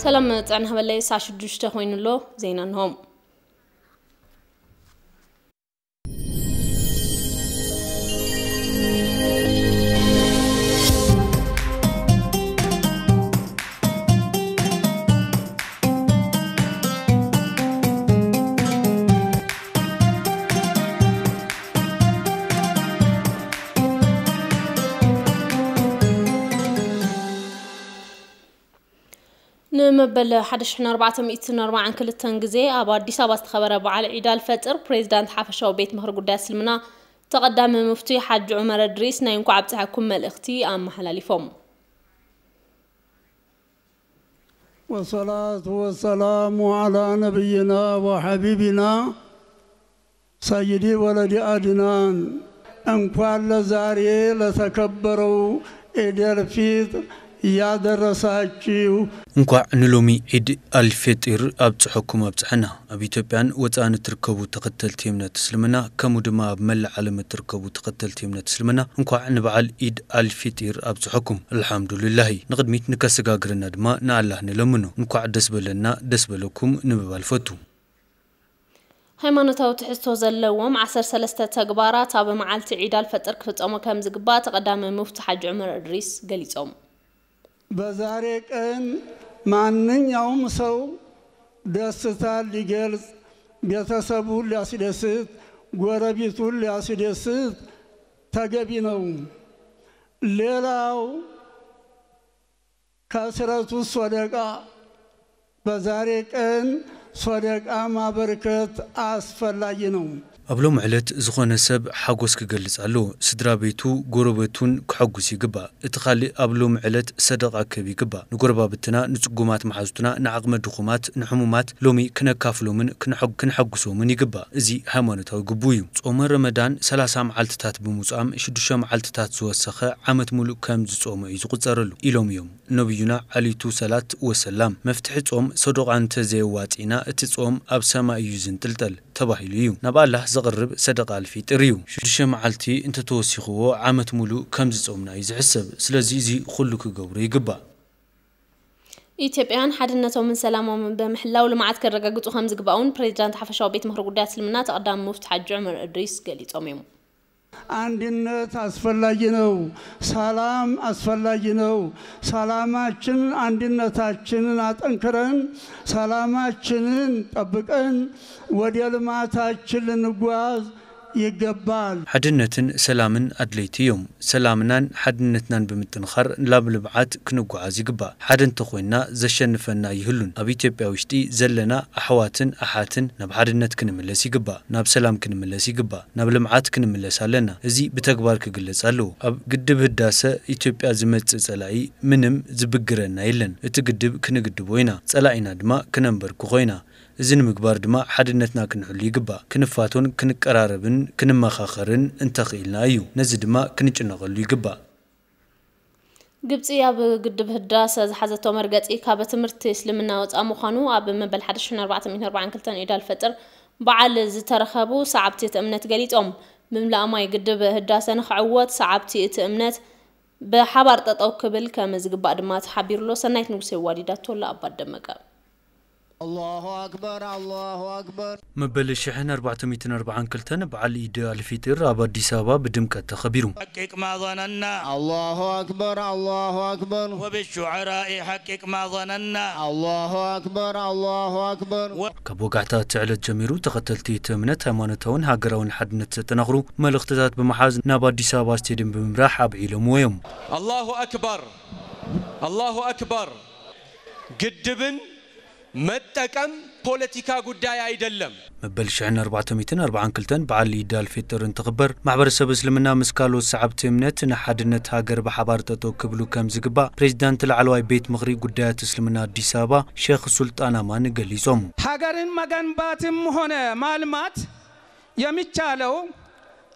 ሰላም፣ ጥዕና ሃበለይ። ሰዓት ሽዱሽተ ኮይኑ ኣሎ። ዜና እንሆ። ንመበል ሓደ ሽሕን ኣርባዕተ ሚእትን ኣርባዓን ክልተን ግዜ ኣብ ኣዲስ ኣበባ ዝተኸበረ በዓል ዒድ ኣልፈጥር፣ ፕሬዚዳንት ሓፈሻዊ ቤት ምኽሪ ጉዳይ እስልምና ተቐዳሚ ሙፍቲ ሓጂ ዑመር እድሪስ ናይ እንኳዕ ኣብፀሐኩም መልእኽቲ ኣመሓላሊፎም። والصلاة والسلام على نبينا وحبيبنا سيدي ولد عدنان. እንኳን ለዛሬ ለተከበረው ዒድ አልፊጥር ያደረሳችሁ። እንኳዕ ንሎሚ ዒድ ኣልፌጢር ኣብጽሐኩም ኣብጽሐና። ኣብ ኢትዮጵያን ወጻእን እትርከቡ ተኸተልቲ እምነት እስልምና ከምኡ ድማ ኣብ መላእ ዓለም እትርከቡ ተኸተልቲ እምነት እስልምና እንኳዕ ንበዓል ኢድ ኣልፊጢር ኣብጽሐኩም። ኣልሓምዱሊላሂ። ንቕድሚት ንከሰጋግረና ድማ ንኣላህ ንለምኖ። እንኳዕ ደስ በለና ደስ በለኩም ንምባል ፈቱ። ሃይማኖታዊ ትሕዝቶ ዘለዎም ዓሰርተ ሰለስተ ተግባራት ኣብ መዓልቲ ዒድ ኣልፈጥር ክፍጸሙ ከም ዝግባእ ተቐዳሚ ሙፍቲ ሓጂ ዑመር እድሪስ ገሊጾም። በዛሬ ቀን ማንኛውም ሰው ደስታ ሊገልጽ፣ ቤተሰቡን ሊያስደስት፣ ጎረቤቱን ሊያስደስት ተገቢ ነው። ሌላው ከስረቱ ሶደቃ፣ በዛሬ ቀን ሶደቃ ማበርከት አስፈላጊ ነው። ኣብ ሎሚ ዕለት ዝኾነ ሰብ ሓጎስ ክገልጽ ኣለዎ። ስድራ ቤቱ፣ ጎረቤቱን ክሐጉስ ይግባእ። እቲ ካልእ ኣብ ሎሚ ዕለት ሰደቃ ክህብ ይግባእ። ንጎረባብትና፣ ንጽጉማት መሓዙትና፣ ንዓቕመ ድኹማት፣ ንሕሙማት ሎሚ ክነካፍሎምን ክነሐጉ- ክነሐጉሶምን ይግባእ። እዚ ሃይማኖታዊ ግቡእ እዩ። ጾመ ረመዳን ሰላሳ መዓልትታት ብምውጻም ሽዱሽተ መዓልትታት ዝወሰኸ ዓመት ሙሉእ ከም ዝጾመ እዩ ዝቑጸረሉ ኢሎም እዮም። ነብዩና ዓሊቱ ሰላት ወሰላም፣ መፍትሒ ጾም ሰዶቓ እንተ ዘየዋጺእና እቲ ጾም ኣብ ሰማይ እዩ ዝንጥልጠል ተባሂሉ እዩ። ናብ ኣላህ ዘቕርብ ሰደቓ ኣልፊጥር እዩ። ሽዱሽተ መዓልቲ እንተተወሲኽዎ ዓመት ሙሉእ ከም ዝጾምና እዩ ዝሕሰብ። ስለዚ እዚ ኩሉ ክገብሮ ይግባእ። ኢትዮጵያን ሓድነቶምን ሰላሞምን ብምሕላው ልምዓት ከረጋግፁ ከም ዝግባእ እውን ፕሬዚዳንት ሓፈሻዊ ቤት ምኽሪ ጉዳያት እስልምና ተቐዳሚ ሙፍቲ ሓጂ ዑመር እድሪስ ገሊፆም እዮም። አንድነት አስፈላጊ ነው። ሰላም አስፈላጊ ነው። ሰላማችንን አንድነታችንን አጠንክረን ሰላማችንን ጠብቀን ወደ ልማታችን ልንጓዝ ይገባል። ሓድነትን ሰላምን ኣድለይቲ እዮም። ሰላምናን ሓድነትናን ብምጥንኻር ናብ ልምዓት ክንጓዓዝ ይግባእ። ሓደ እንተኾይንና ዘሸንፈና ኣይህሉን። ኣብ ኢትዮጵያ ውሽጢ ዘለና ኣሕዋትን ኣሓትን ናብ ሓድነት ክንምለስ ይግባእ። ናብ ሰላም ክንምለስ ይግባእ። ናብ ልምዓት ክንምለስ ኣለና። እዚ ብተግባር ክግለጽ ኣለዎ። ኣብ ግድብ ህዳሰ ኢትዮጵያ ዝመጽእ ጸላኢ ምንም ዝብግረና የለን። እቲ ግድብ ክንግድቦ ኢና። ጸላኢና ድማ ክነንበርክኾ ኢና። እዚ ንምግባር ድማ ሓድነትና ክንሕሉ ይግባእ። ክንፋቶን ክንቀራረብን ክንመኻኸርን እንተኽኢልና እዩ። ነዚ ድማ ክንጭነቐሉ ይግባእ። ግብጺ ኣብ ግድብ ህዳሰ ዝሓዘቶ መርገጺ ካብ ትምህርቲ እስልምና ወጻእ ምዃኑ ኣብ መበል ሓደ ሺሕ ኣርባዕተ ሚእትን ኣርባዓን ክልተን ዒድ ኣልፈጥር በዓል ዝተረኸቡ ሰዓብቲ እቲ እምነት ገሊጾም። ምምላእ ማይ ግድብ ህዳሰ ንኽዕወት ሰዓብቲ እቲ እምነት ብሓባር ጠጠው ክብል ከም ዝግባእ ድማ ተሓቢሩሎ። ሰናይት ንጉሴ ዋዲዳቶ ኣላ ኣባት ደመቀ። الله أكبر الله أكبر መበል ሽሕን ኣርባዕተ ሚእትን ኣርባዓን ክልተን በዓል ኢድ ኣልፊጢር ኣብ ኣዲስ ኣበባ ብድምቀት ተኸቢሩ። حقق ما ظننا الله أكبر الله أكبر وبالشعراء حقق ما ظننا الله أكبر الله أكبر ካብ ወጋሕታ እቲ ዕለት ጀሚሩ ተኸተልቲ እቲ እምነት ሃይማኖታውን ሃገራውን ሓድነት ዘጠናኽሩ መልእኽትታት ብምሓዝ ናብ ኣዲስ ኣበባ ስቴድየም ብምምራሕ ኣብዒሎምዎ እዮም። الله أكبر الله أكبر ግድብን መጠቀም ፖለቲካ ጉዳይ አይደለም። መበል ሽሕን ኣርባዕተ ሚእትን ኣርባዓን ክልተን በዓል ኢድ ኣልፌጥር እንትኽበር ማሕበረሰብ እስልምና ምስ ካልኦት ሰዓብቲ እምነት ንሓድነት ሃገር ብሓባር ጠጠው ክብሉ ከም ዝግባእ ፕሬዚዳንት ላዕለዋይ ቤት ምኽሪ ጉዳያት እስልምና ኣዲስ ኣበባ ሼኽ ሱልጣን ኣማን ገሊጾም። ሀገርን መገንባትም ሆነ ማልማት የሚቻለው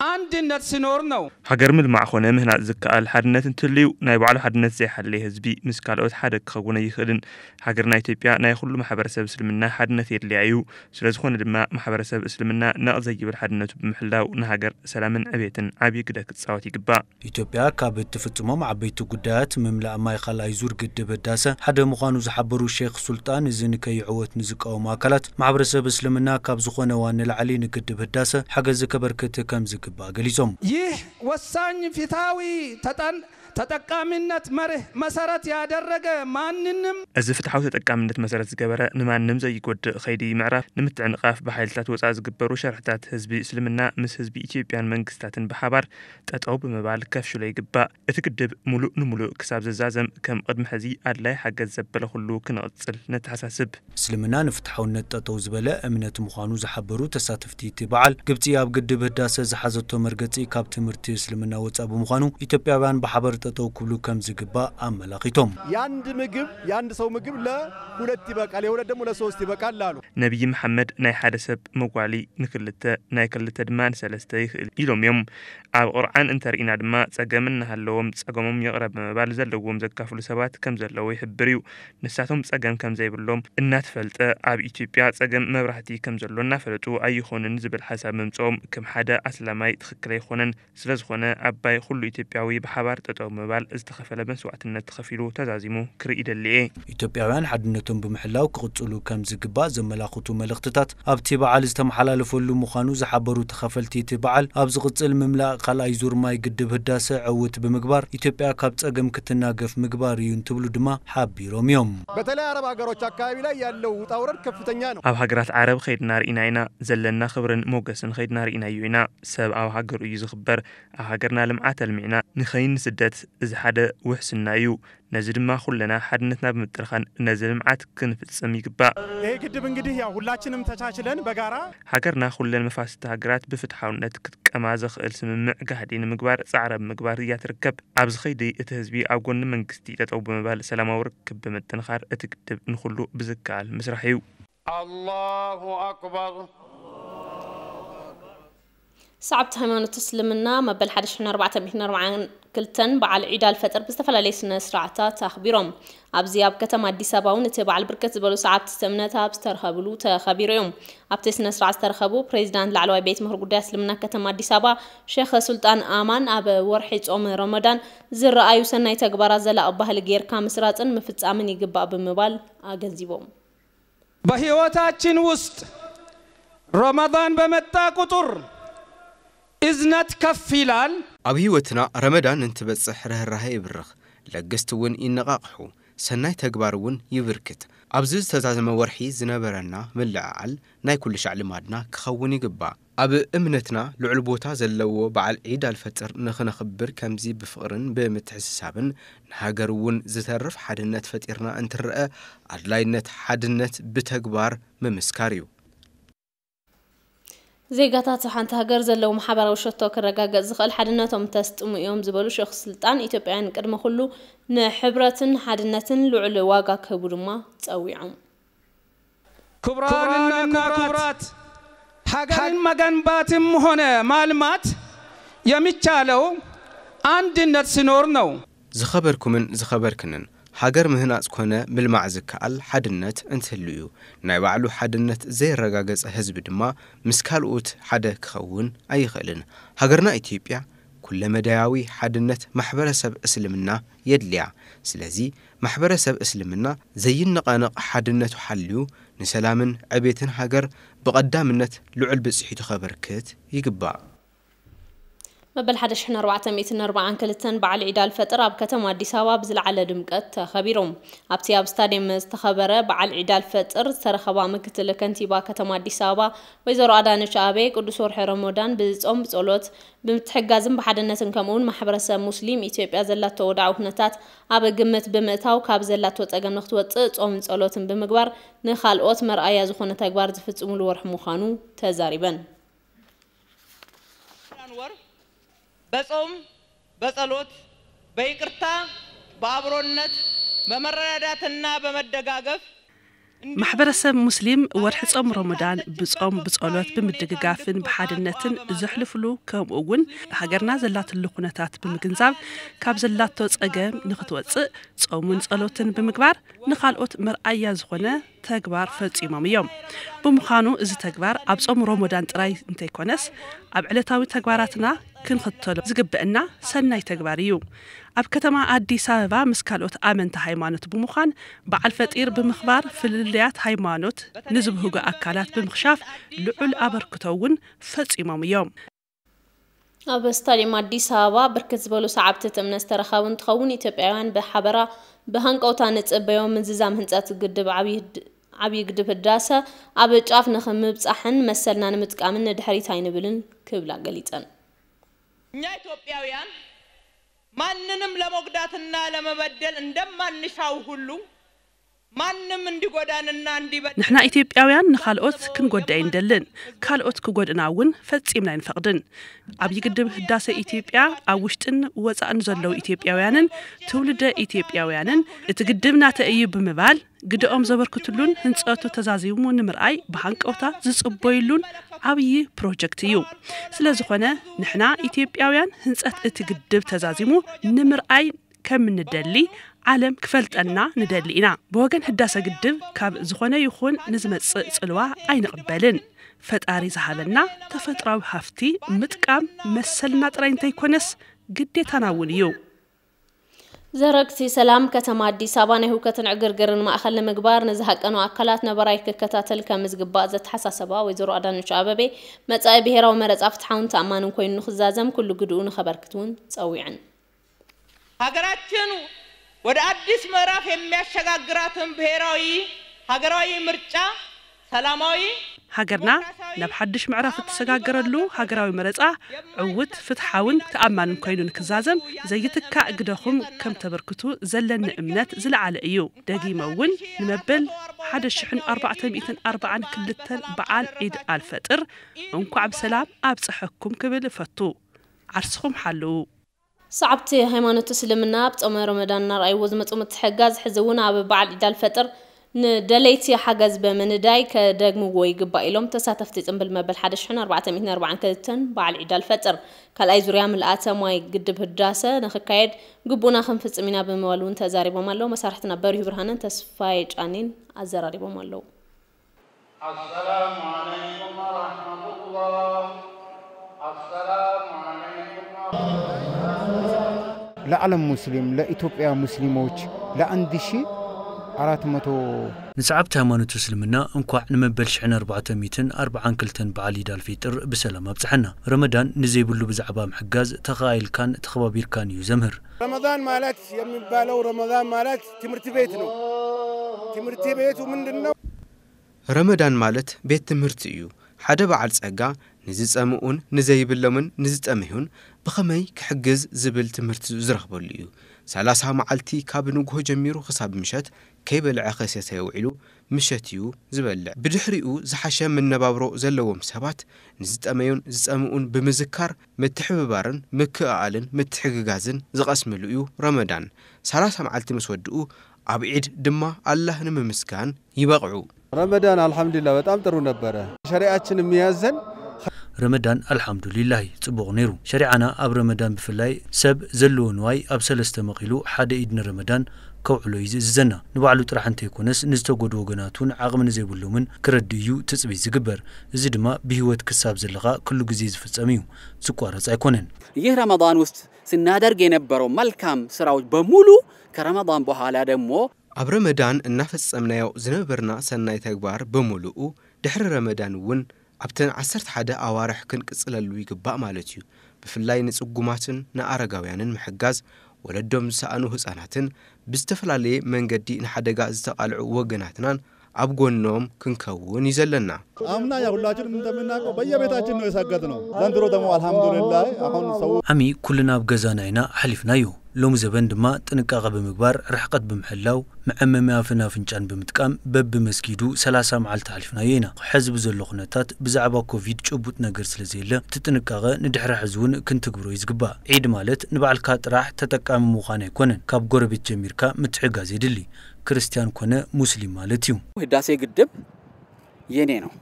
አንድነት ሲኖር ነው። ሃገር ምልማዕ ኾነ ምህናጽ ዝከኣል ሓድነት እንትህልዩ ናይ ባዕሉ ሓድነት ዘይሓለየ ህዝቢ ምስ ካልኦት ሓደ ክኸውን ኣይኽእልን። ሃገርና ኢትዮጵያ ናይ ኹሉ ማሕበረሰብ እስልምና ሓድነት የድልያ እዩ። ስለዝኾነ ድማ ማሕበረሰብ እስልምና ነቕ ዘይብል ሓድነቱ ብምሕላው ንሃገር ሰላምን ዕቤትን ዓብዪ ግደ ክጻወት ይግባእ። ኢትዮጵያ ካብ እትፍጽሞም ዓበይቲ ጉዳያት ምምላእ ማይ ካልኣይ ዙር ግድብ ህዳሰ ሓደ ምዃኑ ዝሓበሩ ሼክ ሱልጣን፣ እዚ ንከይዕወት ንዝቃወሙ ኣካላት ማሕበረሰብ እስልምና ካብ ዝኾነ እዋን ንላዕሊ ንግድብ ህዳሰ ሓገዝ ከበርክት ከም ዝግባእ ገሊጾም። ይህ ወሳኝ ፍትሐዊ ተጠን ተጠቃሚነት መርህ መሰረት ያደረገ ማንንም እዚ ፍትሓዊ ተጠቃምነት መሰረት ዝገበረ ንማንም ዘይጎድእ ኸይዲ ምዕራፍ ንምትዕንቓፍ ብሓይልታት ወፃእ ዝግበሩ ሸርሕታት ህዝቢ እስልምና ምስ ህዝቢ ኢትዮጵያን መንግስታትን ብሓባር ጠጠው ብምባል ከፍሽሎ ይግባእ። እቲ ግድብ ሙሉእ ንሙሉእ ክሳብ ዝዛዘም ከም ቅድሚ ሕዚ ኣድላይ ሓገዝ ዘበለ ኩሉ ክንቕፅል ነተሓሳስብ። እስልምና ንፍትሓውነት ጠጠው ዝበለ እምነት ምዃኑ ዝሓበሩ ተሳተፍቲ እቲ በዓል፣ ግብጺ ኣብ ግድብ ህዳሰ ዝሓዘቶ መርገጺ ካብ ትምህርቲ እስልምና ወጻእ ብምዃኑ ኢትዮጵያውያን ብሓበር ጠጠው ክብሉ ከም ዝግባእ ኣመላኺቶም። የአንድ ምግብ የአንድ ሰው ምግብ ለሁለት ይበቃል፣ የሁለት ደግሞ ለሶስት ይበቃል አሉ። ነቢይ መሓመድ ናይ ሓደ ሰብ መጓሊ ንክልተ ናይ ክልተ ድማ ንሰለስተ ይኽእል ኢሎም እዮም። ኣብ ቁርዓን እንተርኢና ድማ ጸገም እናሃለዎም ጸገሞም ይቕረ ብምባል ዘለዎም ዘካፍሉ ሰባት ከም ዘለዉ ይሕብር እዩ። ንሳቶም ጸገም ከም ዘይብሎም እናተፈልጠ ኣብ ኢትዮጵያ ጸገም መብራህቲ ከም ዘሎ እናፈለጡ ኣይኾንን ዝብል ሓሳብ ምምጽኦም ከም ሓደ ኣስላማይ ትኽክል ኣይኾነን። ስለዝኾነ ኣባይ ኩሉ ኢትዮጵያዊ ብሓባር ጠጠው ምባል ዝተኸፈለ መስዋዕትነት ተኸፊሉ ተዛዚሙ ክርኢ ይደሊ እየ። ኢትዮጵያውያን ሓድነቶም ብምሕላው ክቕጽሉ ከም ዝግባእ ዘመላኽቱ መልእኽትታት ኣብቲ በዓል ዝተመሓላለፈሉ ምዃኑ ዝሓበሩ ተኻፈልቲ እቲ በዓል፣ ኣብ ዝቕጽል ምምላእ ካልኣይ ዙር ማይ ግድብ ህዳሰ ዕውት ብምግባር ኢትዮጵያ ካብ ጸገም ክትናገፍ ምግባር እዩ እንትብሉ ድማ ሓቢሮም እዮም። በተለይ አረብ ሀገሮች አካባቢ ላይ ያለው ውጣ ውረድ ከፍተኛ ነው። ኣብ ሃገራት ዓረብ ኸይድና ርኢና ኢና። ዘለና ክብርን ሞገስን ኸይድና ርኢናዮ ኢና። ሰብ ኣብ ሃገሩ እዩ ዝኽበር። ኣብ ሃገርና ልምዓት ኣልሚዕና ንኸይንስደት እዚ ሓደ ውሕስና እዩ። ነዚ ድማ ኩልና ሓድነትና ብምጥንኻር ነዚ ልምዓት ክንፍጽም ይግባእ። ይሄ ግድብ እንግዲህ ያው ሁላችንም ተቻችለን በጋራ ሃገርና ኩለን መፋሰስቲ ሃገራት ብፍትሓውነት ክትጥቀማ ዘኽእል ስምምዕ ጋህዲ ንምግባር ጻዕሪ ኣብ ምግባር እያ ትርከብ። ኣብዚ ኸይዲ እቲ ህዝቢ ኣብ ጎኒ መንግስቲ ጠጠው ብምባል ሰላማዊ ርክብ ብምጥንኻር እቲ ግድብ ንኹሉ ብዝከኣል ምስራሕ እዩ። الله أكبر ሰዓብቲ ሃይማኖት እስልምና መበል ሓደ ሽሕን ኣርባዕተ ሚእትን ኣርባዓን ክልተን በዓል ዒድ ኣልፈጥር ብዝተፈላለየ ስነ ስርዓታት ኣኽቢሮም። ኣብዚ ኣብ ከተማ ኣዲስ ኣበባ እውን እቲ በዓል ብርክት ዝበሉ ሰዓብቲ እቲ እምነት ኣብ ዝተረኸብሉ ተኸቢሩ እዩ። ኣብቲ ስነ ስርዓት ዝተረኸቡ ፕሬዚዳንት ላዕለዋይ ቤት ምኽሪ ጉዳይ እስልምና ከተማ ኣዲስ ኣበባ ሼኽ ሱልጣን ኣማን ኣብ ወርሒ ጾም ረመዳን ዝረኣዩ ሰናይ ተግባራት ዘላቒ ባህሊ ጌርካ ምስራፅን ምፍፃምን ይግባእ ብምባል ኣገንዚቦም። በህይወታችን ውስጥ ረመዳን በመጣ ቁጥር እዝነት ከፍ ይላል። ኣብ ህይወትና ረመዳን እንትበጽሕ ርህራሄ ይብርኽ፣ ለገስቲ እውን ይነቓቕሑ፣ ሰናይ ተግባር እውን ይብርክት። ኣብዚ ዝተዛዘመ ወርሒ ዝነበረና ምልዕዓል ናይ ኩሉ ሻዕ ልማድና ክኸውን ይግባእ። ኣብ እምነትና ልዑል ቦታ ዘለዎ በዓል ዒድ ኣልፈጥር ንኽነኽብር ከምዚ ብፍቕርን ብምትሕስሳብን ንሃገር እውን ዝተርፍ ሓድነት ፈጢርና እንትረኣ ኣድላይነት ሓድነት ብተግባር ምምስካር እዩ። ዜጋታት ሓንቲ ሃገር ዘለዎም ሓባራዊ ሸቶ ክረጋገጽ ዝኽእል ሓድነቶም እንተስጥሙ እዮም ዝበሉ ሸኽ ስልጣን፣ ኢትዮጵያውያን ቅድሚ ኩሉ ንሕብረትን ሓድነትን ልዑል ዋጋ ክህቡ ድማ ጸዊዖም። ክቡራንና ክቡራት፣ ሀገርን መገንባትም ሆነ ማልማት የሚቻለው አንድነት ሲኖር ነው። ዝኸበርኩምን ዝኸበርክንን፣ ሃገር ምህናጽ ኮነ ምልማዕ ዝከኣል ሓድነት እንትህሉ እዩ። ናይ ባዕሉ ሓድነት ዘየረጋገጸ ህዝቢ ድማ ምስ ካልኦት ሓደ ክኸውን ኣይኽእልን። ሃገርና ኢትዮጵያ ኩለመዳያዊ ሓድነት ማሕበረሰብ እስልምና የድልያ። ስለዚ ማሕበረሰብ እስልምና ዘይነቓነቕ ሓድነቱ ሓልዩ ንሰላምን ዕቤትን ሃገር ብቐዳምነት ልዑል ብጽሒቱ ከበርክት ይግባእ። መበል ሓደ ሽሕን ኣርባዕተ ሚእትን ኣርባዓን ክልተን በዓል ዒድ ኣልፈጥር ኣብ ከተማ ኣዲስ ኣበባ ብዝለዓለ ድምቀት ተኸቢሩ። ኣብቲ ኣብ ስታድየም ዝተኸበረ በዓል ዒድ ኣልፈጥር ዝተረኸባ ምክትል ከንቲባ ከተማ ኣዲስ ኣበባ ወይዘሮ ኣዳነች ኣቤ፣ ቅዱስ ወርሒ ረመዳን ብጾም ብጸሎት ብምትሕጋዝን ብሓድነትን ከምኡውን ማሕበረሰብ ሙስሊም ኢትዮጵያ ዘላቶ ወድዓዊ ኩነታት ኣብ ግምት ብምእታው ካብ ዘላቶ ጸገም ንክትወጽእ ጾምን ጸሎትን ብምግባር ንኻልኦት መርኣያ ዝኾነ ተግባር ዝፍጽሙሉ ወርሒ ምዃኑ ተዛሪበን። ወር በጾም በጸሎት በይቅርታ በአብሮነት በመረዳዳትና በመደጋገፍ ማሕበረሰብ ሙስሊም ወርሒ ጾም ረመዳን ብጾም፣ ብጸሎት፣ ብምድግጋፍን ብሓድነትን ዘሕልፍሉ፣ ከምኡ እውን ሃገርና ዘላትሉ ኩነታት ብምግንዛብ ካብ ዘላቶ ጸገም ንኽትወጽእ ጾምን ጸሎትን ብምግባር ንኻልኦት መርኣያ ዝኾነ ተግባር ፈጺሞም እዮም። ብምዃኑ እዚ ተግባር ኣብ ጾም ረመዳን ጥራይ እንተይኮነስ ኣብ ዕለታዊ ተግባራትና ክንኽተሎ ዝግበአና ሰናይ ተግባር እዩ። ኣብ ከተማ ኣዲስ ኣበባ ምስ ካልኦት ኣመንቲ ሃይማኖት ብምዃን በዓል ፈጢር ብምኽባር ፍልልያት ሃይማኖት ንዝብህጉ ኣካላት ብምኽሻፍ ልዑል ኣበርክቶ እውን ፈጺሞም እዮም። ኣብ ስታዲየም ኣዲስ ኣበባ ብርክት ዝበሉ ሰዓብቲ እቲ እምነት ዝተረኸቡ እንትኸውን፣ ኢትዮጵያውያን ብሓበራ ብሃንቀውታ ንጽበዮ ምዝዛም ህንፀት ግድብ ዓብዪ ህድ- ዓብዪ ግድብ ህዳሰ ኣብ ጫፍ ንኽምብፃሕን መሰልና ንምጥቃምን ንድሕሪት ኣይንብልን ክብላ ገሊፀን። እኛ ኢትዮጵያውያን ማንንም ለመጉዳትና ለመበደል እንደማንሻው ሁሉ ማንም እንዲጎዳንና እንዲበድል ንሕና ኢትዮጵያውያን ንኻልኦት ክንጎድእ ኣይንደልን፣ ካልኦት ክጎድእና እውን ፈጺምና ኣይንፈቕድን። ዓብዪ ግድብ ህዳሰ ኢትዮጵያ ኣብ ውሽጥን ወፃእን ዘለዉ ኢትዮጵያውያንን ትውልደ ኢትዮጵያውያንን እቲ ግድብ ናተይ እዩ ብምባል ግደኦም ዘበርክትሉን ህንፀቱ ተዛዚሙ ንምርኣይ ብሃንቀውታ ዝፅበይሉን ዓብዪ ፕሮጀክት እዩ። ስለዝኾነ ንሕና ኢትዮጵያውያን ህንፀት እቲ ግድብ ተዛዚሙ ንምርኣይ ከም እንደሊ ዓለም ክፈልጠና ንደሊ ኢና። ብወገን ህዳሰ ግድብ ካብ ዝኾነ ይኹን ንዝመጽእ ጽልዋ ኣይንቕበልን። ፈጣሪ ዝሃበና ተፈጥራዊ ሃፍቲ ምጥቃም መሰልና ጥራይ እንተይኮነስ ግዴታና እውን እዩ። ዘረግቲ ሰላም ከተማ ኣዲስ ኣበባ ናይ ህውከትን ዕግርግርን ማእኸል ንምግባር ንዝሃቀኑ ኣካላት ነባራይ ክከታተል ከም ዝግባእ ዘተሓሳሰባ ወይዘሮ ኣዳነች ኣበቤ፣ መጻኢ ብሄራዊ መረጻ ፍትሓውን ተኣማንን ኮይኑ ንክዛዘም ኩሉ ግድኡ ንኸበርክት እውን ጸዊዐን። ሀገራችን ወደ አዲስ ምዕራፍ የሚያሸጋግራትን ብሔራዊ ሀገራዊ ምርጫ ሰላማዊ ሃገርና ናብ ሓድሽ ምዕራፍ እትሰጋገረሉ ሃገራዊ መረጻ ዕውት፣ ፍትሓውን ተኣማንን ኮይኑ ንክዛዘም ዘይትካእ ግደኹም ከም ተበርክቱ ዘለኒ እምነት ዝለዓለ እዩ። ደጊመ እውን ንመበል ሓደ ሽሕን ኣርባዕተ ሚእትን ኣርባዓን ክልተን በዓል ዒድ ኣልፈጥር እንኳዕ ብሰላም ኣብፀሐኩም ክብል እፈቱ። ዓርስኹም ሓልዉ። ሰዓብቲ ሃይማኖት እስልምና ኣብ ጾመ ረመዳን እናርኣይዎ ዝመጹ ምትሕግጋዝ ሕዚ እውን ኣብ በዓል ዒድ ኣልፈጥር ንደለይቲ ሓገዝ ብምንዳይ ከደግምዎ ይግባእ ኢሎም ተሳተፍቲ ጽንብል መበል ሓደ ሽሕን ኣርባዕተ ሚእትን ኣርባዓን ክልተን በዓል ዒድ ኣልፈጥር ካልኣይ ዙርያ ምልኣተ ማይ ግድብ ህዳሰ ንክካየድ ግቡእና ክንፍጽም ኢና ብምባል እውን ተዛሪቦም ኣለዉ። መሳርሕትና በሪሁ ብርሃንን ተስፋዬ ጫኔን ኣዘራሪቦም ኣለዉ። السلام عليكم ورحمة الله. السلام عليكم ورحمة الله. ለዓለም ሙስሊም ለኢትዮጵያ ሙስሊሞች ለአንድ ሺ አራት መቶ ንሰዓብቲ ሃይማኖት እስልምና እንኳዕ ንመበል ሽሕን ኣርባዕተ ሚእትን ኣርባዓን ክልተን በዓል ኢድ ኣልፌጥር ብሰላም ኣብፀሐና። ረመዳን ንዘይብሉ ብዛዕባ ምሕጋዝ ተኸኣኢልካን ተኸባቢርካን እዩ ዘምህር። ረመዳን ማለት የሚባለው ረመዳን ማለት ትምህርት ቤት ነው። ትምህርት ቤቱ ምንድን ነው? ረመዳን ማለት ቤት ትምህርቲ እዩ። ሓደ በዓል ጸጋ ንዝጸምኡን ንዘይብሎምን ንዝጠመዩን ብኸመይ ክሕግዝ ዝብል ትምህርቲ ዝረኽበሉ እዩ። ሰላሳ መዓልቲ ካብ ንግሆ ጀሚሩ ክሳብ ምሸት ከይበልዐ ከይሰተየ ውዒሉ ምሸት እዩ ዝበልዕ። ብድሕሪኡ ዝሓሸ መነባብሮ ዘለዎም ሰባት ንዝጠመዩን ዝጸምኡን ብምዝካር ምትሕብባርን ምክእኣልን ምትሕግጋዝን ዝቐስምሉ እዩ ረመዳን። ሰላሳ መዓልቲ ምስ ወድኡ ኣብ ዒድ ድማ ኣላህ ንምምስጋን ይበቕዑ። ረመዳን አልሐምዱሊላህ በጣም ጥሩ ነበረ። ሸሪዓችን የሚያዘን ረመዳን ኣልሓምዱሊላሂ ጽቡቕ ነይሩ። ሸሪዓና ኣብ ረመዳን ብፍላይ ሰብ ዘለዎ ንዋይ ኣብ ሰለስተ መቒሉ ሓደ ኢድ ንረመዳን ከውዕሎ እዩ ዝእዝዘና። ንባዕሉ ጥራሕ እንተይኮነስ ንዝተጎድኡ ወገናት እውን ዓቕሚ ንዘይብሎምን ክረድእ እዩ ትጽቢት ዝግበር። እዚ ድማ ብህይወት ክሳብ ዘለኻ ኩሉ ግዜ ዝፍጸም እዩ፣ ዝቋረጽ ኣይኮነን። ይህ ረመዳን ውስጥ ስናደርግ የነበረው መልካም ስራዎች በሙሉ ከረመዳን በኋላ ደግሞ ኣብ ረመዳን እናፈጸምናዮ ዝነበርና ሰናይ ተግባር ብምሉኡ ድሕሪ ረመዳን እውን ኣብተን ዓሰርተ ሓደ ኣዋርሕ ክንቅጽለሉ ይግባእ ማለት እዩ። ብፍላይ ንጽጉማትን ንኣረጋውያንን ምሕጋዝ፣ ወለዶም ዝሰኣኑ ህጻናትን ብዝተፈላለየ መንገዲ ንሓደጋ ዝተቓልዑ ወገናትናን ኣብ ጎኖም ክንከውን እዩ ዘለና። አምና ያ ሁላችንም እንደምናውቀው በየቤታችን ነው የሰገድነው። ዘንድሮ ደግሞ አልሐምዱሊላህ አሁን ሰው ዓሚ ኩልና ኣብ ገዛና ኢና ኣሕሊፍናዮ። ሎሚ ዘበን ድማ ጥንቃቐ ብምግባር፣ ርሕቀት ብምሕላው፣ መዐመሚ ኣፍን ኣፍንጫን ብምጥቃም በብመስጊዱ ሰላሳ መዓልቲ ኣሕሊፍናዮ ኢና። ሕዚ ብዘሎ ኩነታት ብዛዕባ ኮቪድ ጭቡጥ ነገር ስለዘየለ እቲ ጥንቃቐ ንድሕሪ ሕዚ እውን ክንትግብሮ እዩ ዝግባእ። ዒድ ማለት ንባዕልካ ጥራሕ ተጠቃሚ ምዃን ኣይኮነን፣ ካብ ጎረቤት ጀሚርካ ምትሕጋዝ የድሊ። ክርስቲያን ኮነ ሙስሊም ማለት እዩ። ህዳሴ ግድብ የኔ ነው፣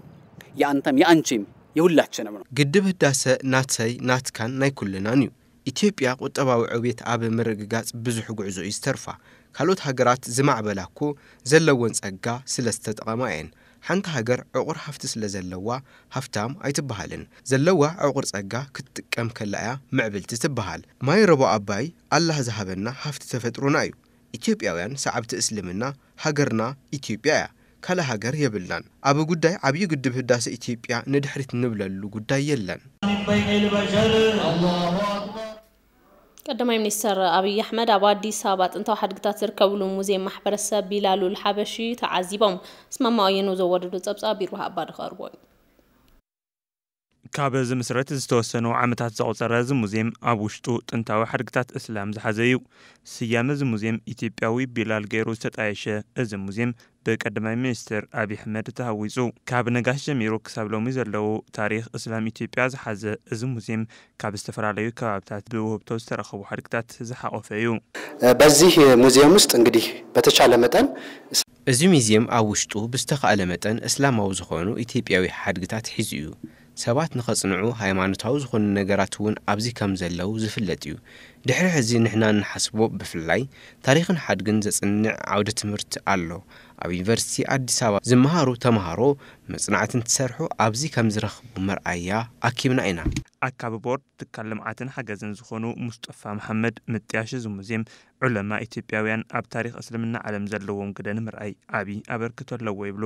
የአንተም የአንቺም የሁላችንም ነው። ግድብ ህዳሰ ናተይ ናትካን ናይ ኩልናን እዩ። ኢትዮጵያ ቁጠባዊ ዕብየት ኣብ ምርግጋጽ ብዙሕ ጉዕዞ እዩ ዝተርፋ። ካልኦት ሃገራት ዝማዕበላ እኮ ዘለወን ጸጋ ስለ ዝተጠቐማ እየን። ሓንቲ ሃገር ዕቑር ሃፍቲ ስለ ዘለዋ ሃፍታም ኣይትበሃልን። ዘለዋ ዕቑር ጸጋ ክትጥቀም ከላ እያ ምዕብልቲ ትበሃል። ማይ ረቦ ኣባይ ኣላህ ዝሃበና ሃፍቲ ተፈጥሮና እዩ። ኢትዮጵያውያን ሰዓብቲ እስልምና ሃገርና ኢትዮጵያ እያ። ካልእ ሃገር የብልናን። ኣብ ጉዳይ ዓብዪ ግድብ ህዳሰ ኢትዮጵያ ንድሕሪት ንብለሉ ጉዳይ የለን። ቀዳማይ ሚኒስተር ኣብይ ኣሕመድ ኣብ ኣዲስ ኣበባ ጥንታዊ ሓድግታት ዝርከብሉ ሙዚየም ማሕበረሰብ ቢላሉል ሓበሺ ተዓዚቦም። ኣስማማው ኣየነው ዘወደዶ ጸብጻብ ቢርዋህ ኣባዲ ክቐርቦ እዩ። ካብ ዝምስረት ዝተወሰኑ ዓመታት ዘቑጸረ እዚ ሙዚየም ኣብ ውሽጡ ጥንታዊ ሓድግታት እስላም ዝሓዘ እዩ። ስያመ እዚ ሙዚየም ኢትዮጵያዊ ቢላል ገይሩ ዝተጣየሸ እዚ ሙዚየም ብቀዳማይ ሚኒስትር ኣብይ ኣሕመድ ተሃዊጹ። ካብ ነጋሽ ጀሚሩ ክሳብ ሎሚ ዘለዉ ታሪኽ እስላም ኢትዮጵያ ዝሓዘ እዚ ሙዚየም ካብ ዝተፈላለዩ ከባብታት ብውህብቶ ዝተረኸቡ ሓድግታት ዝሓቖፈ እዩ። በዚህ ሙዚየም ውስጥ እንግዲህ በተቻለ መጠን እዚ ሙዚየም ኣብ ውሽጡ ብዝተኻእለ መጠን እስላማዊ ዝኾኑ ኢትዮጵያዊ ሓድግታት ሒዙ እዩ። ሰባት ንኸጽንዑ ሃይማኖታዊ ዝኾኑ ነገራት እውን ኣብዚ ከም ዘለዉ ዝፍለጥ እዩ። ድሕሪ ሕዚ ንሕና እንሓስቦ ብፍላይ ታሪኽን ሓድግን ዘጽንዕ ዓውደ ትምህርቲ ኣሎ። ኣብ ዩኒቨርሲቲ ኣዲስ ኣበባ ዝመሃሩ ተምሃሮ መጽናዕቲ እንትሰርሑ ኣብዚ ከም ዝረኽቡ መርኣያ ኣኪብና ኢና። ኣካቢ ቦርድ ትካል ልምዓትን ሓገዝን ዝኾኑ ሙስጠፋ መሓመድ ምጥያሽ እዚ ሙዚየም ዑለማ ኢትዮጵያውያን ኣብ ታሪኽ እስልምና ዓለም ዘለዎም ግደ ንምርኣይ ዓቢ ኣበርክቶ ኣለዎ ይብሉ።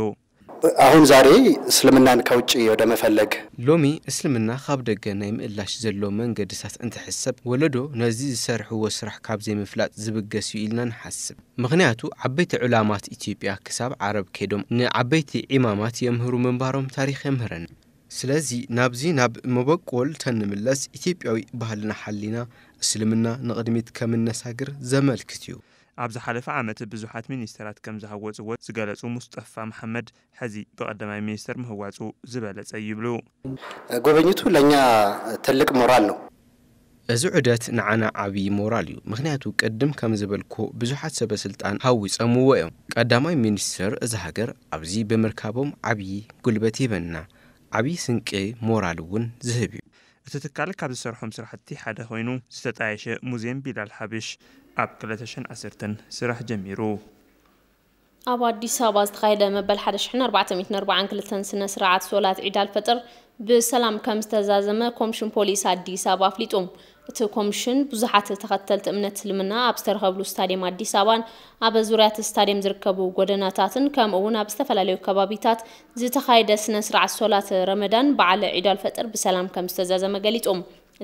አሁን ዛሬ እስልምናን ከውጭ ወደ መፈለግ ሎሚ እስልምና ካብ ደገ ናይ ምእላሽ ዘሎ መንገድታት እንትሕሰብ ወለዶ ነዚ ዝሰርሕዎ ስራሕ ካብ ዘይምፍላጥ ዝብገስ እዩ ኢልና ንሓስብ። ምኽንያቱ ዓበይቲ ዑላማት ኢትዮጵያ ክሳብ ዓረብ ከይዶም ንዓበይቲ ዒማማት የምህሩ ምንባሮም ታሪኽ የምህረና። ስለዚ ናብዚ ናብ መበቆል ተንምለስ ኢትዮጵያዊ ባህልና ሓሊና እስልምና ንቕድሚት ከምነሳግር ዘመልክት እዩ። ኣብ ዝሓለፈ ዓመት ብዙሓት ሚኒስተራት ከም ዝሃወፅዎ ዝገለፁ ሙስጠፋ መሓመድ ሕዚ ብቐዳማይ ሚኒስተር ምህዋፁ ዝበለፀ ይብሉ። ጉብኝቱ ለእኛ ትልቅ ሞራል ነው። እዚ ዑደት ንዓና ዓብዪ ሞራል እዩ። ምኽንያቱ ቅድም ከም ዝበልኩ ብዙሓት ሰበ ስልጣን ሃዊፀምዎ እዮም። ቀዳማይ ሚኒስትር እዛ ሃገር ኣብዚ ብምርካቦም ዓብዪ ጉልበት ይህበና። ዓብዪ ስንቂ ሞራል እውን ዝህብ እዩ። እቲ ትካል ካብ ዝሰርሖም ስራሕቲ ሓደ ኮይኑ ዝተጣየሸ ሙዚየም ቢላል ሓብሽ ኣብ ክልተ ሽሕን ዓሰርተን ስራሕ ጀሚሩ። ኣብ ኣዲስ ኣበባ ዝተኻየደ መበል ሓደ ሽሕን ኣርባዕተ ሚእትን ኣርባዓን ክልተን ስነ ስርዓት ሶላት ዒድ ኣልፈጥር ብሰላም ከም ዝተዛዘመ ኮምሽን ፖሊስ ኣዲስ ኣበባ ኣፍሊጡ። እቲ ኮምሽን ብዙሓት ተኸተልቲ እምነት እስልምና ኣብ ዝተረኸብሉ ስታዲየም ኣዲስ ኣበባን ኣብ ዙርያ እቲ ስታዲየም ዝርከቡ ጎደናታትን ከምኡ እውን ኣብ ዝተፈላለዩ ከባቢታት ዝተኻየደ ስነ ስርዓት ሶላት ረመዳን በዓል ዒድ ኣልፈጥር ብሰላም ከም ዝተዛዘመ ገሊጹ።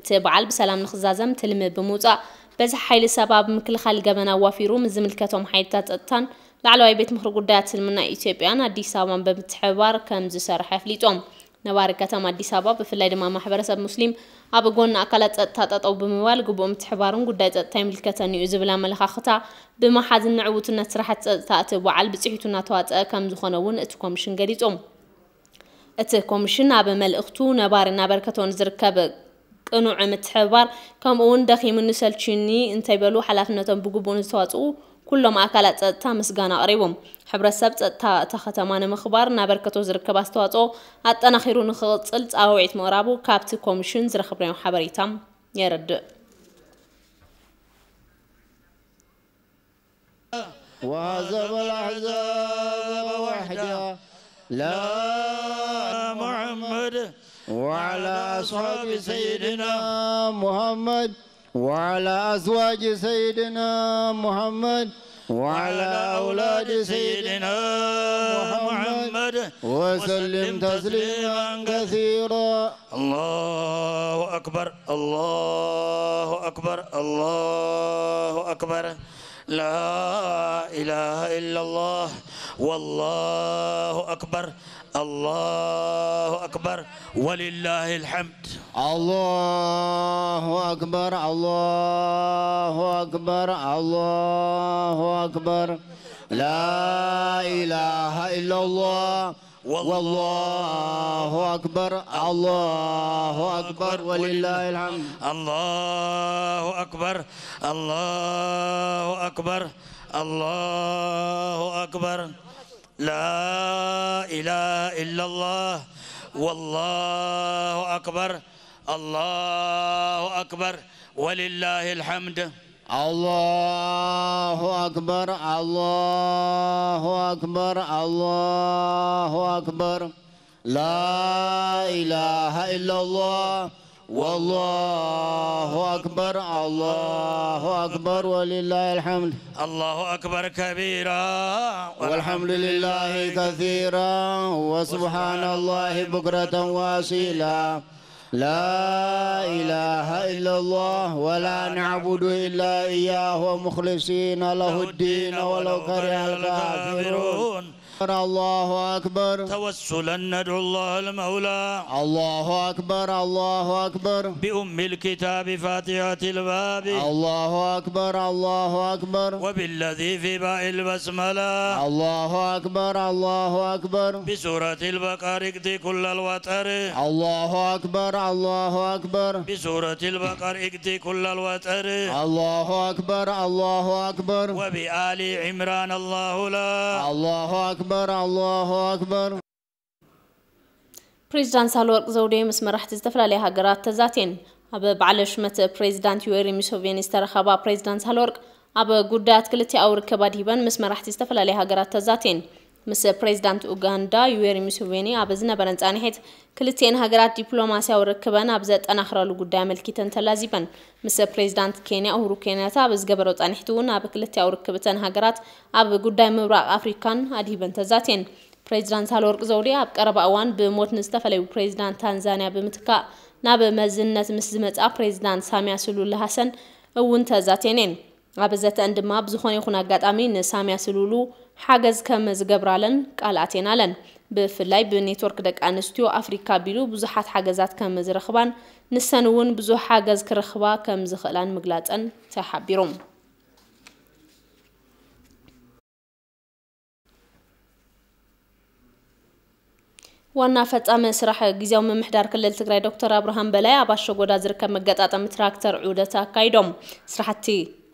እቲ በዓል ብሰላም ንኽዛዘም ትልሚ ብምውጻእ በዝሒ ሓይሊ ሰብ ኣብ ምክልኻል ገበን ኣዋፊሩ ምስ ዝምልከቶም ሓይልታት ጸጥታን ላዕለዋይ ቤት ምኽሪ ጉዳያት እስልምና ኢትዮጵያን ኣዲስ ኣበባን ብምትሕብባር ከም ዝሰርሐ ኣፍሊጦም። ነባሪ ከተማ ኣዲስ ኣበባ ብፍላይ ድማ ማሕበረሰብ ሙስሊም ኣብ ጎኒ ኣካላት ጸጥታ ጠጠው ብምባል ግቡእ ምትሕባርን ጉዳይ ጸጥታ ይምልከተኒ እዩ ዝብል ኣመለኻኽታ ብምሓዝን ንዕውትነት ስራሕቲ ጸጥታ እቲ በዓል ብፅሒቱ እናተዋፀአ ከም ዝኾነ እውን እቲ ኮሚሽን ገሊፁ። እቲ ኮሚሽን ኣብ መልእኽቱ ነባሪ እናበርከቶ ንዝርከብ ቅኑዕ ምትሕብባር ከምኡ እውን ደኺሙኒ ሰልችዩኒ እንተይበሉ ሓላፍነቶም ብግቡእ ንዝተዋፅኡ ኩሎም ኣካላት ፀጥታ ምስጋና ኣቕሪቡ። ሕብረተሰብ ፀጥታ እታ ከተማ ንምኽባር እናበርከቶ ዝርከብ ኣስተዋፅኦ ኣጠናኺሩ ንኽቕፅል ፃውዒት ምቕራቡ ካብቲ ኮሚሽን ዝረኸብናዮ ሓበሬታ የረድእ። وهزم الأحزاب وحده لا محمد وعلى أصحاب سيدنا محمد وعلى أزواج سيدنا محمد وعلى أولاد سيدنا محمد وسلم تسليما كثيرا. الله أكبر، الله أكبر، الله أكبر. لا إله إلا الله، والله أكبر، الله أكبر، ولله الحمد. الله أكبر، الله أكبر، الله أكبر. لا إله إلا الله، والله أكبر، الله أكبر، ولله الحمد. الله أكبر، الله أكبر، الله أكبر. لا إله إلا الله. والله أكبر. الله أكبر. ولله الحمد. الله أكبر، الله أكبر، الله أكبر. لا إله إلا الله. والله أكبر، الله أكبر، ولله الحمد. الله أكبر كبيرا. والحمد لله كثيرا. وسبحان الله بكرة وأصيلا. لا إله إلا الله. ولا نعبد إلا إياه مخلصين له الدين ولو كره الكافرون. الله أكبر. توسلا ندعو الله المولى. الله أكبر، الله أكبر. بأم الكتاب فاتحة الباب. الله أكبر، الله أكبر. وبالذي في باء البسملة. الله أكبر، الله أكبر. بسورة البقرة اقض كل الوتر. الله أكبر، الله أكبر. بسورة البقرة اقض كل الوتر. الله أكبر، الله أكبر. وبآل عمران الله لا. الله أكبر، الله أكبر. ፕሬዚዳንት ሳህለወርቅ ዘውዴ ምስ መራሕቲ ዝተፈላለያ ሃገራት ተዛትየን። ኣብ በዓለ ሹመት ፕሬዚዳንት ዩዌሪ ሙሴቬኒ ዝተረኸባ ፕሬዚዳንት ሳህለወርቅ፣ ኣብ ጉዳያት ክልቲኣዊ ርክብ ኣድሂበን ምስ መራሕቲ ዝተፈላለያ ሃገራት ተዛትየን። ምስ ፕሬዚዳንት ኡጋንዳ ዩዌሪ ሙሴቬኒ ኣብ ዝነበረን ጻንሒት፣ ክልቲኤን ሃገራት ዲፕሎማስያዊ ርክበን ኣብ ዘጠናኽራሉ ጉዳይ ኣመልኪተን ተላዚበን። ምስ ፕሬዚዳንት ኬንያ ኡሁሩ ኬንያታ ኣብ ዝገበሮ ጻንሒት እውን፣ ኣብ ክልቲኣዊ ርክብ እተን ሃገራት ኣብ ጉዳይ ምብራቕ ኣፍሪካን ኣድሂበን ተዛትየን። ፕሬዚዳንት ሳህለወርቅ ዘውዴ ኣብ ቀረባ እዋን ብሞት ንዝተፈለዩ ፕሬዚዳንት ታንዛንያ ብምትካእ ናብ መዝነት ምስ ዝመጽኣ ፕሬዚዳንት ሳሚያ ሱሉሁ ሃሰን እውን ተዛትየን እየን። ኣብ ዘተአን ድማ፣ ብዝኾነ ይኹን ኣጋጣሚ ንሳሚያ ሱሉሁ ሓገዝ ከም ዝገብራለን ቃል ኣትየናለን። ብፍላይ ብኔትወርክ ደቂ ኣንስትዮ ኣፍሪካ ኣቢሉ ብዙሓት ሓገዛት ከም ዝረኽባን ንሰን እውን ብዙሕ ሓገዝ ክረኽባ ከም ዝኽእላን ምግላፀን ተሓቢሩ። ዋና ፈጻሚ ስራሕ ግዝያዊ ምምሕዳር ክልል ትግራይ ዶክተር ኣብርሃም በላይ ኣብ ኣሸጎዳ ዝርከብ መገጣጠሚ ትራክተር ዑደት ኣካይዶም። ስራሕቲ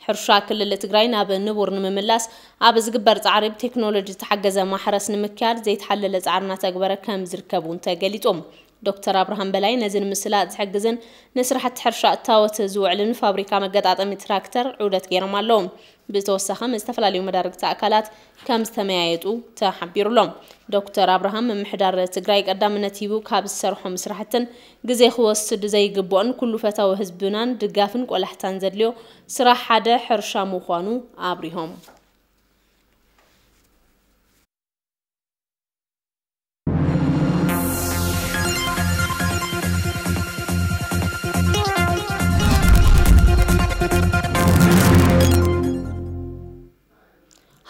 ሕርሻ ክልል ትግራይ ናብ ንቡር ንምምላስ ኣብ ዝግበር ጻዕሪ ብቴክኖሎጂ ዝተሓገዘ ማሕረስ ንምክያድ ዘይተሓለለ ጻዕሪ እናተግበረ ከም ዝርከብ እውን ተገሊጹ። ዶክተር ኣብርሃም በላይ ነዚ ንምስላጥ ዝሕግዝን ንስራሕቲ ሕርሻ እታወት ዝውዕልን ፋብሪካ መገጣጠሚ ትራክተር ዑደት ገይሮም ኣለዉ። ብተወሳኺ ምስ ዝተፈላለዩ መዳርግቲ ኣካላት ከም ዝተመያየጡ ተሓቢሩሎም። ዶክተር ኣብርሃም ምምሕዳር ትግራይ ቀዳምነት ሂቡ ካብ ዝሰርሖም ስራሕትን ግዜ ክወስድ ዘይግብኦን ኩሉ ፈታዊ ህዝብናን ድጋፍን ቆላሕታን ዘድልዮ ስራሕ ሓደ ሕርሻ ምዃኑ ኣብሪሆም።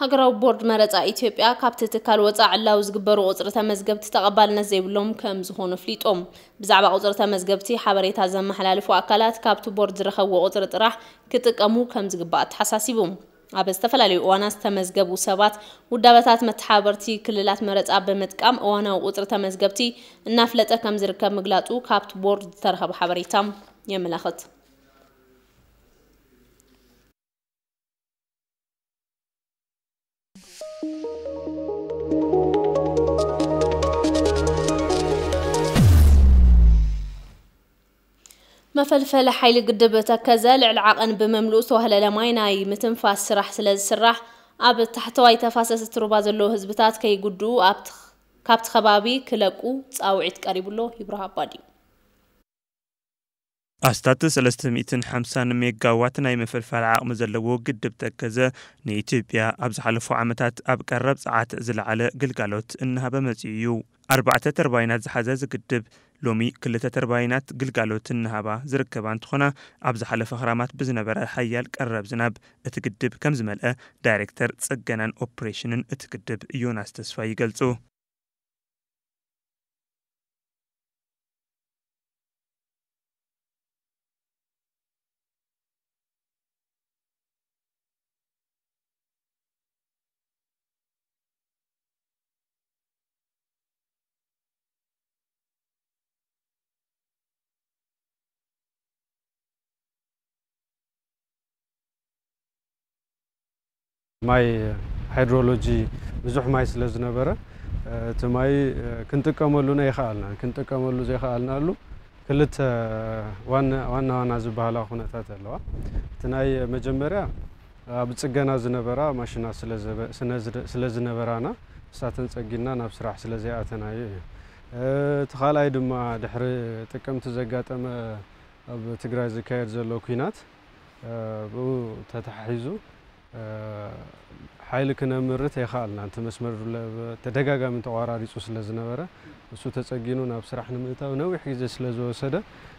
ሃገራዊ ቦርድ መረጻ ኢትዮጵያ ካብቲ ትካል ወጻኢ ዕላዊ ዝግበሩ ቁጽሪ ተመዝገብቲ ተቐባልነት ዘይብሎም ከም ዝኾኑ ኣፍሊጦም። ብዛዕባ ቁጽሪ ተመዝገብቲ ሓበሬታ ዘመሓላልፉ ኣካላት ካብቲ ቦርድ ዝረኸብዎ ቁጽሪ ጥራሕ ክጥቀሙ ከም ዝግባእ ኣተሓሳሲቡ። ኣብ ዝተፈላለዩ እዋናት ዝተመዝገቡ ሰባት ውዳበታት መተሓባበርቲ ክልላት መረጻ ብምጥቃም እዋናዊ ቁጽሪ ተመዝገብቲ እናፍለጠ ከም ዝርከብ ምግላጹ ካብቲ ቦርድ ዝተረኸበ ሓበሬታ የመላኽት። መፈልፈሊ ሓይሊ ግድብ ተከዘ ልዕሊ ዓቐን ብምምልኡ ዝተዋህለለ ማይ ናይ ምትንፋስ ስራሕ ስለ ዝስራሕ፣ ኣብ ታሕተዋይ ተፋሰስ እቲ ሩባ ዘለዉ ህዝብታት ከይጉድኡ ኣብቲ፣ ካብቲ ከባቢ ክለቁ ጻውዒት ቀሪቡሎ። ይብርሃ ኣባዲ። ኣስታት ሰለስተ ሚእትን ሓምሳን ሜጋዋት ናይ መፈልፈሊ ዓቕሚ ዘለዎ ግድብ ተከዘ ንኢትዮጵያ ኣብ ዝሓለፉ ዓመታት ኣብ ቀረብ ጸዓት ዝለዓለ ግልጋሎት እናሃበ መጺኡ እዩ። ኣርባዕተ ተርባይናት ዝሓዘ እዚ ግድብ ሎሚ ክልተ ተርባይናት ግልጋሎት እናሃባ ዝርከባ እንትኾና፣ ኣብ ዝሓለፈ ክራማት ብዝነበረ ሓያል ቀረብ ዝናብ እቲ ግድብ ከም ዝመልአ ዳይሬክተር ጽገናን ኦፕሬሽንን እቲ ግድብ ዮናስ ተስፋይ ይገልጹ። ማይ፣ ሃይድሮሎጂ ብዙሕ ማይ ስለ ዝነበረ፣ እቲ ማይ ክንጥቀመሉ ኣይከኣልናን። ክንጥቀመሉ ዘይከኣልናሉ ክልተ ዋና ዋና ዋና ዝበሃላ ኩነታት ኣለዋ። እቲ ናይ መጀመርያ ኣብ ጽገና ዝነበራ ማሽናት ስለ ዝነበራና፣ እሳተን ጸጊና ናብ ስራሕ ስለ ዘይኣተናዮ እዩ። እቲ ካልኣይ ድማ ድሕሪ ጥቅምቲ ዘጋጠመ ኣብ ትግራይ ዝካየድ ዘሎ ኲናት፣ ብኡ ተተሓሒዙ ሓይሊ ክነምርት ኣይከኣልናን። እቲ መስመር ተደጋጋሚ ተቋራሪጹ ስለ ዝነበረ፣ እሱ ተጸጊኑ ናብ ስራሕ ንምእታው ነዊሕ ግዜ ስለ ዝወሰደ፣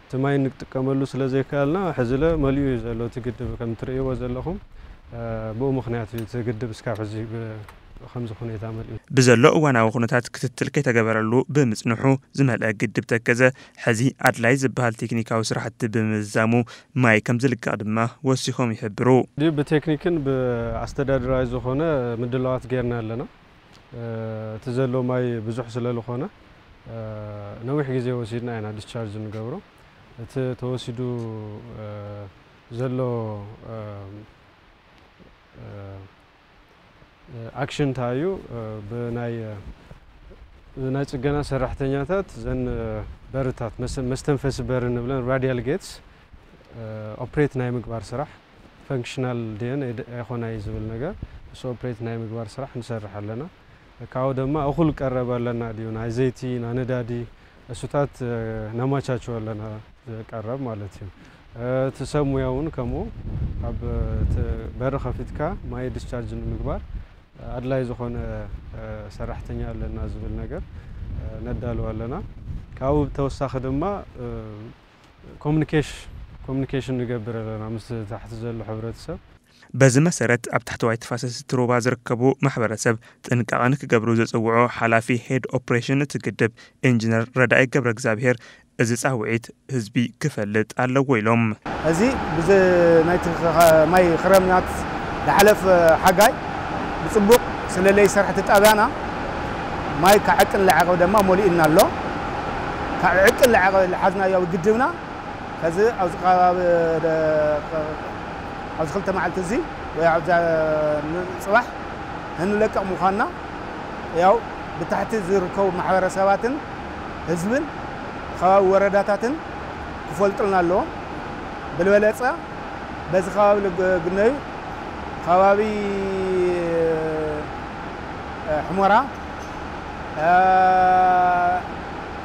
እቲ ማይ እንጥቀመሉ ስለ ዘይከኣልና፣ ሕዚለ መሊኡ እዩ ዘሎ እቲ ግድብ። ከም ትርእይዎ ዘለኹም፣ ብኡ ምኽንያት እዩ እቲ ግድብ እስካብ ሕዚ ከምዚ ኩነታ መሊኡ። ብዘሎ እዋናዊ ኩነታት ክትትል ከይተገበረሉ ብምጽንሑ፣ ዝመልአ ግድብ ተከዘ ሕዚ ኣድላይ ዝበሃል ቴክኒካዊ ስራሕቲ ብምዝዛሙ ማይ ከም ዝልቀቕ ድማ ወሲኾም ይሕብሩ። ብቴክኒክን ብኣስተዳደራዊ ዝኾነ ምድላዋት ጌርና ኣለና። እቲ ዘሎ ማይ ብዙሕ ስለ ዝኾነ፣ ነዊሕ ግዜ ወሲድና ኢና ዲስቻርጅ ንገብሮ። እቲ ተወሲዱ ዘሎ ኣክሽን እንታይ እዩ? ብናይ ብናይ ጽገና ሰራሕተኛታት ዘን በርታት፣ መስተንፈሲ በር ንብለን ራዲያል ጌትስ ኦፕሬት ናይ ምግባር ስራሕ፣ ፈንክሽናል ድየን ኣይኮናይ ዝብል ነገር፣ እሱ ኦፕሬት ናይ ምግባር ስራሕ ንሰርሕ ኣለና። ካብኡ ድማ እኹል ቀረብ ኣለና ድዩ፣ ናይ ዘይቲ፣ ናይ ነዳዲ፣ እሱታት ነማቻችዎ ኣለና፣ ዝቀረብ ማለት እዩ። እቲ ሰብ ሙያ እውን ከምኡ፣ ኣብ በሪ ከፊትካ ማይ ዲስቻርጅ ንምግባር ኣድላይ ዝኾነ ሰራሕተኛ ኣለና ዝብል ነገር ነዳልው ኣለና። ካብኡ ብተወሳኺ ድማ ኮሚኒኬሽን ንገብር ኣለና ምስ ታሕቲ ዘሎ ሕብረተሰብ። በዚ መሰረት ኣብ ታሕተዋይ ተፋሰስ እቲ ሩባ ዝርከቡ ማሕበረሰብ ጥንቃቐ ንክገብሩ ዘፅውዖ ሓላፊ ሄድ ኦፕሬሽን እቲ ግድብ ኢንጂነር ረዳኢ ገብረ እግዚኣብሔር፣ እዚ ፃውዒት ህዝቢ ክፈልጥ ኣለዎ ኢሎም። እዚ ብዚ ናይቲ ማይ ክረምናት ዝሓለፈ ሓጋይ ብፅቡቕ ስለ ለይሰርሐ እቲ ጣብያና ማይ ካብ ዕቅን ለዓቐ ድማ መሊእና ኣሎ። ካብ ዕቅን ለዓቐ ዝሓዝናዮ ግድብና ከዚ ኣብዚ ከባቢ ኣብዚ ክልተ መዓልቲ እዚ ወይ ኣብዛ ጽባሕ እንለቀቕ ምዃንና ያው ብታሕቲ ዝርከቡ ማሕበረሰባትን ህዝብን ከባቢ ወረዳታትን ክፈልጡልና ኣለዎም። ብልበለጸ በዚ ከባቢ ልግነዩ ከባቢ ሕሞራ፣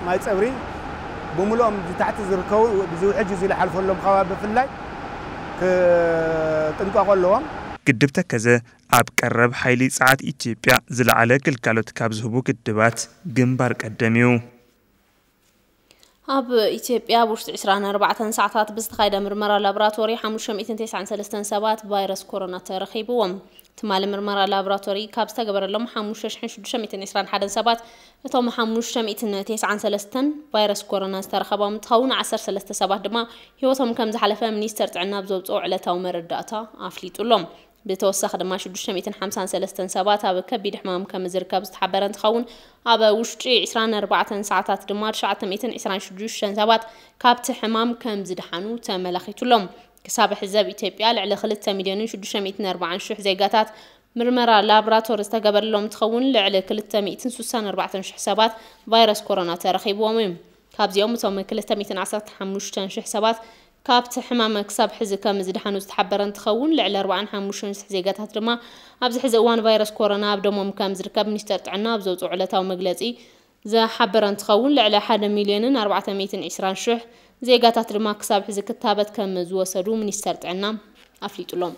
ማይ ጸብሪ ብምልኦም ታሕቲ ዝርከቡ እዚ ውሕጅ እዚ ዝሓልፈሎም ከባቢ ብፍላይ ክጥንቀቑ ኣለዎም። ግድብ ተከዘ ኣብ ቀረብ ሓይሊ ጸዓት ኢትዮጵያ ዝለዓለ ግልጋሎት ካብ ዝህቡ ግድባት ግንባር ቀደም እዩ። ኣብ ኢትዮጵያ ኣብ ውሽጢ ዕስራን ኣርባዕተን ሰዓታት ብዝተኻየደ ምርመራ ላቦራቶሪ ሓሙሽተ ሚእትን ተስዓን ሰለስተን ሰባት ቫይረስ ኮሮና ተረኺብዎም። ትማሊ ምርመራ ላቦራቶሪ ካብ ዝተገበረሎም ሓሙሽተ ሽሕን ሽዱሽተ ሚእትን ዕስራን ሓደን ሰባት እቶም ሓሙሽተ ሚእትን ተስዓን ሰለስተን ቫይረስ ኮሮና ዝተረኸቦም እንትኸውን ዓሰርተ ሰለስተ ሰባት ድማ ህይወቶም ከም ዝሓለፈ ሚኒስተር ጥዕና ኣብ ዘውፅኦ ዕለታዊ መረዳእታ ኣፍሊጡ ኣሎ። ብተወሳኺ ድማ ሽዱሽተ ሚእትን ሓምሳን ሰለስተን ሰባት ኣብ ከቢድ ሕማም ከም ዝርከብ ዝተሓበረ እንትኸውን ኣብ ውሽጢ ዕስራን ኣርባዕተን ሰዓታት ድማ ትሽዓተ ሚእትን ዕስራን ሽዱሽተን ሰባት ካብቲ ሕማም ከም ዝደሓኑ ተመላኺቱ ኣሎ። ክሳብ ሕዚ ኣብ ኢትዮጵያ ልዕሊ ክልተ ሚልዮንን ሽዱሽተ ሚእትን ኣርባዓን ሽሕ ዜጋታት ምርመራ ላብራቶሪ ዝተገበረሎም እንትኸውን ልዕሊ ክልተ ሚእትን ስሳን ኣርባዕተን ሽሕ ሰባት ቫይረስ ኮሮና ተረኺብዎም እዩ። ካብዚኦም እቶም ክልተ ሚእትን ዓሰርተ ሓሙሽተ ሽሕ ሰባት ካብቲ ሕማም ክሳብ ሕዚ ከም ዝደሓኑ ዝተሓበረ እንትኸውን ልዕሊ ኣርባዓን ሓሙሽተን ሽሕ ዜጋታት ድማ ኣብዚ ሕዚ እዋን ቫይረስ ኮሮና ኣብ ደሞም ከም ዝርከብ ሚኒስተር ጥዕና ኣብ ዘውፅኦ ዕለታዊ መግለፂ ዝሓበረ እንትኸውን ልዕሊ ሓደ ሚልዮንን ኣርባዕተ ሚእትን ዕስራን ሽሕ ዜጋታት ድማ ክሳብ ሕዚ ክታበት ከም ዝወሰዱ ሚኒስተር ጥዕና ኣፍሊጡሎም።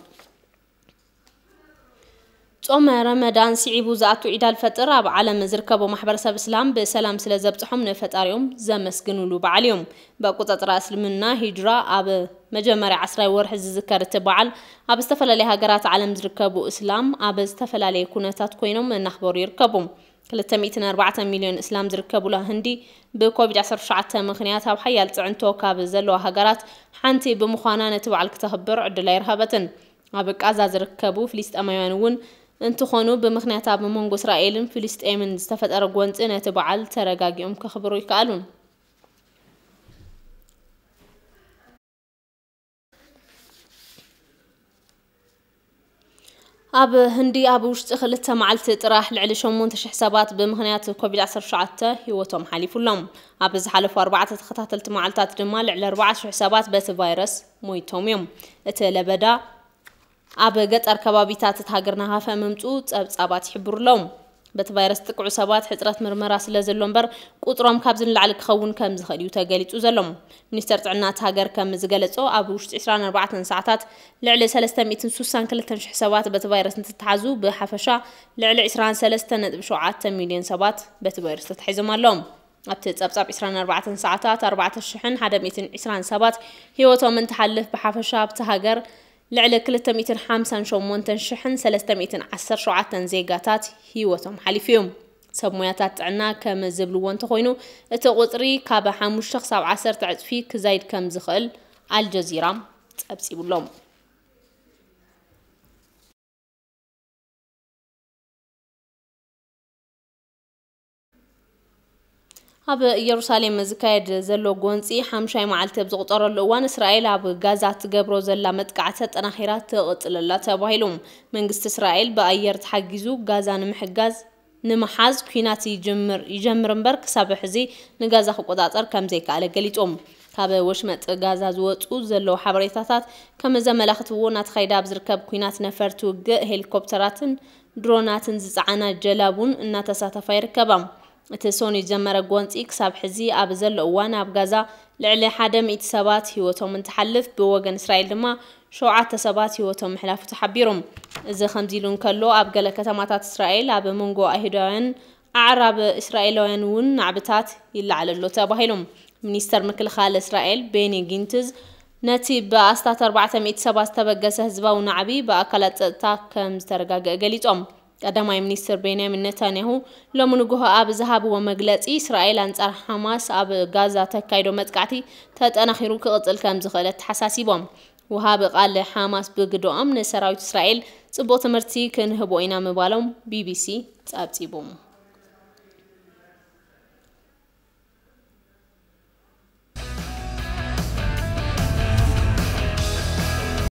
ጾመ ረመዳን ስዒቡ ዝኣቱ ዒድ ኣልፈጥር ኣብ ዓለም ዝርከቡ ማሕበረሰብ እስላም ብሰላም ስለ ዘብጽሖም ንፈጣሪኦም ዘመስግኑሉ በዓል እዩ። ብኣቆጻጽራ እስልምና ሂጅራ ኣብ መጀመርያ ዓስራይ ወርሒ ዝዝከር እቲ በዓል ኣብ ዝተፈላለያ ሃገራት ዓለም ዝርከቡ እስላም ኣብ ዝተፈላለየ ኩነታት ኮይኖም እናኽበሩ ይርከቡ። ክልተ ሚእትን ኣርባዕተን ሚልዮን እስላም ዝርከቡላ ህንዲ ብኮቪድ ዓሰርተ ትሽዓተ ምኽንያት ኣብ ሓያል ጽዕንቶ ካብ ዘለዋ ሃገራት ሓንቲ ብምዃና ነቲ በዓል ክተኽብር ዕድል ኣይረኸበትን። ኣብ ቃዛ ዝርከቡ ፍልስጤማውያን እውን እንትኾኑ ብምኽንያት ኣብ መንጎ እስራኤልን ፍልስጤምን ዝተፈጠረ ጎንፂ ነቲ በዓል ተረጋጊኦም ከኽብሩ ይከኣሉን። ኣብ ህንዲ ኣብ ውሽጢ ክልተ መዓልቲ ጥራሕ ልዕሊ ሸሞንተ ሽሕ ሰባት ብምኽንያት ኮቪድ ዓሰርተ ሸውዓተ ህይወቶም ሓሊፉሎም። ኣብ ዝሓለፉ ኣርባዕተ ተኸታተልቲ መዓልታት ድማ ልዕሊ ኣርባዕተ ሽሕ ሰባት በቲ ቫይረስ ሞይቶም እዮም። እቲ ለበዳ ኣብ ገጠር ከባቢታት እቲ ሃገር ናሃፈ ምምፁ ጸብጻባት ይሕብሩ ኣለዉ። በቲ ቫይረስ ጥቅዑ ሰባት ሕጽረት ምርመራ ስለ ዘሎ እምበር ቁጽሮም ካብዚ ንላዕሊ ክኸውን ከም ዝኽእል እዩ ተገሊጹ ዘሎ። ሚኒስተር ጥዕና እቲ ሃገር ከም ዝገለጾ ኣብ ውሽጢ ዕስራን ኣርባዕተን ሰዓታት ልዕሊ ሰለስተ ሚእትን ስሳን ክልተን ሽሕ ሰባት በቲ ቫይረስ እንትተሓዙ ብሓፈሻ ልዕሊ ዕስራን ሰለስተን ነጥቢ ሸውዓተ ሚልዮን ሰባት በቲ ቫይረስ ተታሒዞም ኣለዉ። ኣብቲ ጸብጻብ ዕስራን ኣርባዕተን ሰዓታት ኣርባዕተ ሽሕን ሓደ ሚእትን ዕስራን ሰባት ህይወቶም እንትሓልፍ ብሓፈሻ ኣብቲ ሃገር ልዕሊ ክልተ ሚእትን ሓምሳን ሸሞንተን ሽሕን ሰለስተ ሚእትን ዓሰርተ ሸውዓተን ዜጋታት ህይወቶም ሓሊፉ እዩ። ሰብ ሞያታት ጥዕና ከም ዝብልዎ እንተኾይኑ እቲ ቁጽሪ ካብ ሓሙሽተ ክሳብ ዓሰርተ ዕጽፊ ክዛይድ ከም ዝኽእል ኣልጀዚራ ጸብጺቡሎም። ኣብ ኢየሩሳሌም ዝካየድ ዘሎ ጎንፂ ሓምሻይ መዓልቲ ኣብ ዝቑፀረሉ እዋን እስራኤል ኣብ ጋዛ ትገብሮ ዘላ መጥቃዕቲ ኣጠናኺራ ትቕፅለላ ተባሂሉ። መንግስቲ እስራኤል ብኣየር ተሓጊዙ ጋዛ ንምሕጋዝ ንምሓዝ ኲናት ይጅምር ይጀምር እምበር ክሳብ ሕዚ ንጋዛ ክቆፃፀር ከም ዘይከኣለ ገሊፁ። ካብ ወሽመጥ ጋዛ ዝወፁ ዘለዉ ሓበሬታታት ከም ዘመላኽትዎ እናተኻየደ ኣብ ዝርከብ ኲናት ነፈርቲ ውግእ ሄሊኮፕተራትን ድሮናትን ዝፀዓና ጀላቡን እናተሳተፋ ይርከባ። እቲ ሶኒ ዝጀመረ ጎንፂ ክሳብ ሕዚ ኣብ ዘሎ እዋን ኣብ ጋዛ ልዕሊ ሓደ ሚእቲ ሰባት ህይወቶም እንትሓልፍ ብወገን እስራኤል ድማ ሸውዓተ ሰባት ህይወቶም ምሕላፉ ተሓቢሩ። እዚ ከምዚ ኢሉ እንከሎ ኣብ ገለ ከተማታት እስራኤል ኣብ መንጎ ኣይሁዳውያን ኣዕራብ እስራኤላውያን እውን ናዕብታት ይለዓል ኣሎ ተባሂሉ። ሚኒስተር ምክልኻል እስራኤል ቤኒ ጊንትዝ ነቲ ብኣስታት ኣርባዕተ ሚእቲ ሰባት ዝተበገሰ ህዝባዊ ናዕቢ ብኣካላት ጸጥታ ከም ዝተረጋገአ ገሊጾም። ቀዳማይ ሚኒስትር ቤንያሚን ነታንያሁ ሎሚ ንግሆ ኣብ ዝሃብዎ መግለጺ እስራኤል ኣንጻር ሓማስ ኣብ ጋዛ ተካይዶ መጥቃዕቲ ተጠናኺሩ ክቕጽል ከም ዝኽእል ኣተሓሳሲቦም። ወሃቢ ቃል ሓማስ ብግደኦም ንሰራዊት እስራኤል ጽቡቕ ትምህርቲ ክንህቦ ኢና ምባሎም ቢቢሲ ጸብጺቡ።